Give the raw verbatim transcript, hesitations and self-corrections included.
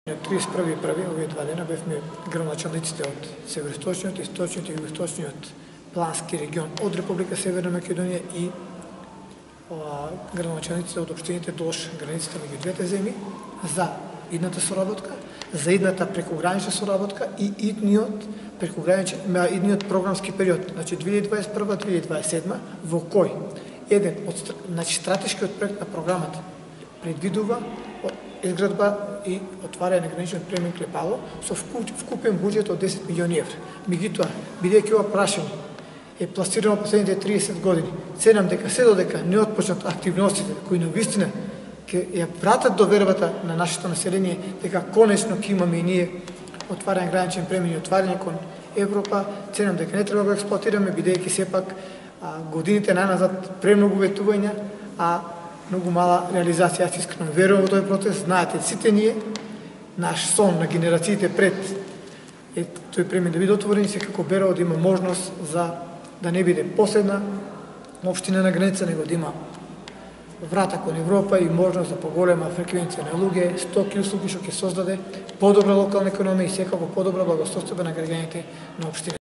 На триесет и први први овие два дена бевме градоначалниците од североисточниот, источниот и југоисточниот плански регион од Република Северна Македонија и градоначалниците од општините долж границата меѓу двете земји за идната соработка, за идната прекогранична соработка и идниот прекограничен, идниот програмски период, значи две илјади дваесет и прва - две илјади дваесет и седма, во кој еден од значи стратешкиот проект на програмата предвидува изградба и отварање на граничниот премин Клепало со вкупен буџет од десет милиони евра. Меѓутоа, бидејќи ова прашање е пласирано последните триесет години, ценам дека се додека не отпочнат активностите кои навистина ќе ја вратат довербата на нашето население дека конечно ќе имаме и ние отварање граничен премин и отварање кон Европа, ценам дека не треба да го експлоатираме бидејќи сепак а, годините најназад премногу ветувања, а многу мала реализација. Јас искрено верувам во тој процес. Знаете, сите ние, наш сон на генерациите пред е тој премин да биде отворен, секако Берово да има можност за да не биде последна општина на граница, него да има врата кон Европа и можност за поголема фреквенција на луѓе, стоки и услуги што ќе создаде подобра локална економија и секако подобра благосостојба на граѓаните на општина.